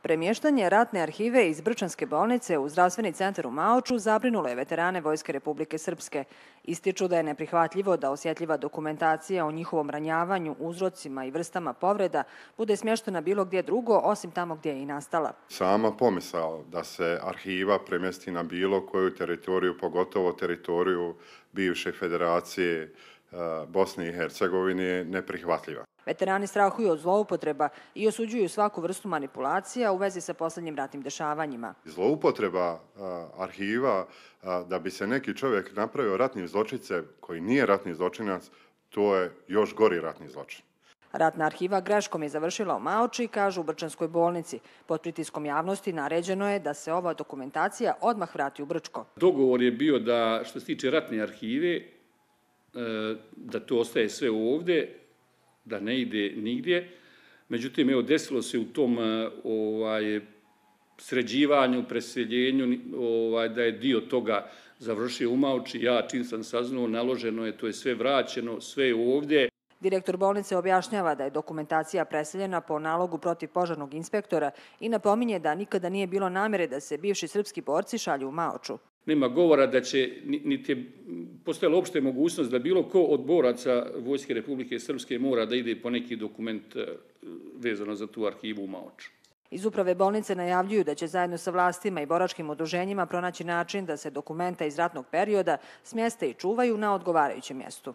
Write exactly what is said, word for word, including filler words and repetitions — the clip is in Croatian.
Premještanje ratne arhive iz Brčanske bolnice u zdravstveni centar u Maoču zabrinulo je veterane Vojske Republike Srpske. Ističu da je neprihvatljivo da osjetljiva dokumentacija o njihovom ranjavanju, uzrocima i vrstama povreda bude smještena bilo gdje drugo, osim tamo gdje je i nastala. Sama pomisao da se arhiva premjesti na bilo koju teritoriju, pogotovo teritoriju bivše federacije Bosne i Hercegovine, je neprihvatljiva. Veterani strahuju od zloupotreba i osuđuju svaku vrstu manipulacija u vezi sa posljednjim ratnim dešavanjima. Zloupotreba arhiva da bi se neki čovjek napravio ratni zločince koji nije ratni zločinac, to je još gori ratni zločin. Ratna arhiva greškom je završila u Maoči, kažu u Brčanskoj bolnici. Pod pritiskom javnosti naređeno je da se ova dokumentacija odmah vrati u Brčko. Dogovor je bio da, što se tiče ratne arhive, da to ostaje sve ovdje, da ne ide nigdje. Međutim, evo, desilo se u tom ovaj, sređivanju, preseljenju, ovaj, da je dio toga završio u Maoči. Ja, čim sam saznao, naloženo je, to je sve vraćeno, sve je ovdje. Direktor bolnice objašnjava da je dokumentacija preseljena po nalogu protivpožarnog inspektora i napominje da nikada nije bilo namjere da se bivši srpski borci šalju u Maoču. Nema govora da će, niti je postojala uopšte mogućnost da bilo ko od boraca Vojske Republike Srpske mora da ide po neki dokument vezano za tu arhivu u Maoču. Iz uprave bolnice najavljuju da će zajedno sa vlastima i boračkim udruženjima pronaći način da se dokumenta iz ratnog perioda smjeste i čuvaju na odgovarajućem mjestu.